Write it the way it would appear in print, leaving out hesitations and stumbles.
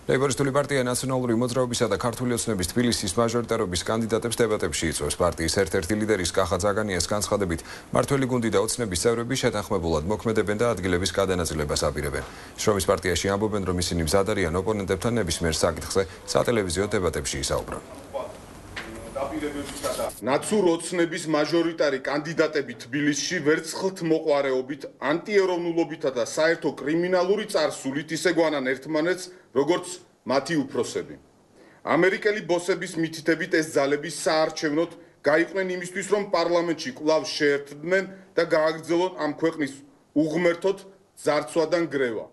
ლეიბორისტული პარტია ნაციონალური მოძრაობისა და ქართული ოცნების თბილისის მაჟორიტარობის კანდიდატებს დებატებში იწვევს. პარტიის ერთ-ერთი ლიდერის კახა ძაგანიას განცხადებით, მართველი გუნდი და ოცნების წევრები შეთანხმებულად მოქმედებენ და ადგილების გადანაწილებას აპირებენ. შრომის პარტიაში ამბობენ, რომ ისინი მზად არიან ოპონენტებთან ნებისმიერ საკითხზე სატელევიზიო დებატებში ისაუბრონ. ნაცურ ოცნების მაჟორიტარი კანდიდატები თბილისში ვერცხლთ მოყვარეობით, ანტიეროვნულობითა და საერთო კრიმინალური წარსულით ისე გვანან ერთმანეთს, როგორც მათი უფროსები. ამერიკელი ბოსების მითითებით ეს ძალები საარჩევნოდ გაიყვნენ იმისთვის, რომ პარლამენტში კვლავ შეერთდნენ და გააგრძელონ ამ ქვეყნის უღმერთოდ ძარცვა და ნგრევა.